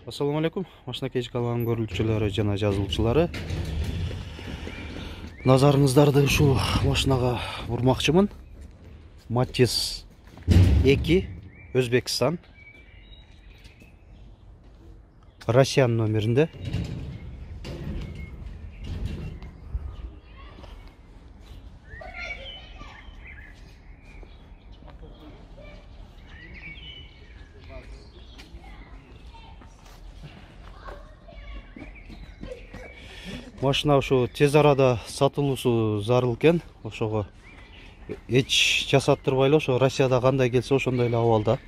Ассаламу алейкум. Машина кечки каналынын көрүүчүлөрү жана жазылуучулары. Назарыңыздарды ушул машинага бурмакчымын. Matiz 2 Өзбекстан. Россиян номеринде. Машина ушу тез арада сатылуусу зарыл экен. Ошого эч жасаттырбай эле ошо Россияда кандай келсе ошондой эле абалда.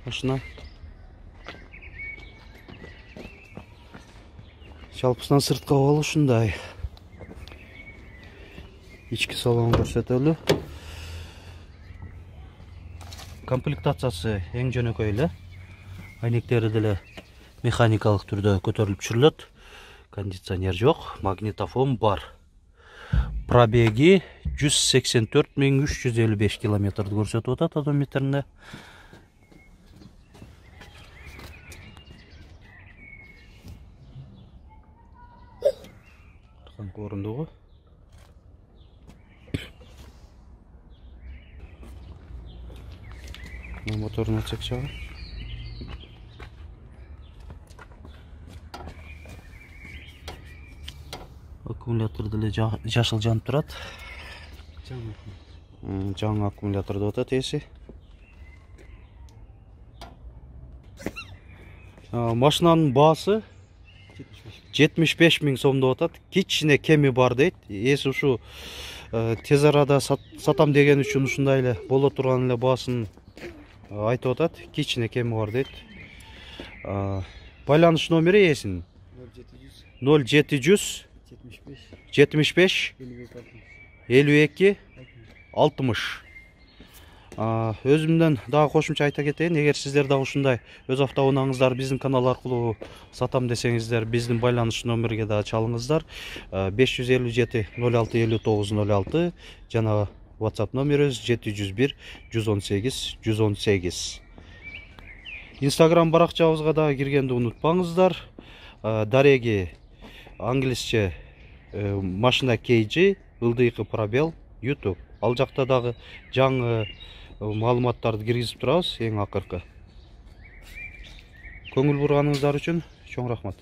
Машина жалпысынан сырткы абалы ушундай. Ички салонун көрсөтөлү. Комплектациясы эң жөнөкөй эле. Айнектери деле механикалык түрдө көтөрүлүп түшүрүлөт. Кондиционер жок, магнитофон бар. Пробеги 184.355 километрди көрсөтүп атат одометринде. Орундугу. Моторун ачсак чагы. Аккумулятор деле жашыл жанып турат. Жаңы аккумулятор деп атат эси. Машинанын баасы 75 миң сом деп атат. Кичине кеми бар дейт. Эси ушу тез арада сатам деген үчүн ушундай эле боло турган эле баасын айтып атат. Кичине кеми бар дейт. Байланыш номери эсин 0700 75 52 60. Өзүмдөн дагы кошумча айта кетейин, эгер сиздер дагы ушундай өз автоунааңыздарды биздин канал аркылуу сатам десеңиздер, биздин байланыш номерге дагы чалыңыздар. 557 06 59 06 жана WhatsApp номерибиз 701 118 118. Instagram баракчабызга дагы киргенди унутпаңыздар. Дареги англисче машина KG ылдыйкы пробел YouTube. Ал жакта дагы жаңы маалыматтарды киргизип турабыз, эң акыркы. Көңүл бурганыңыздар үчүн чоң рахмат.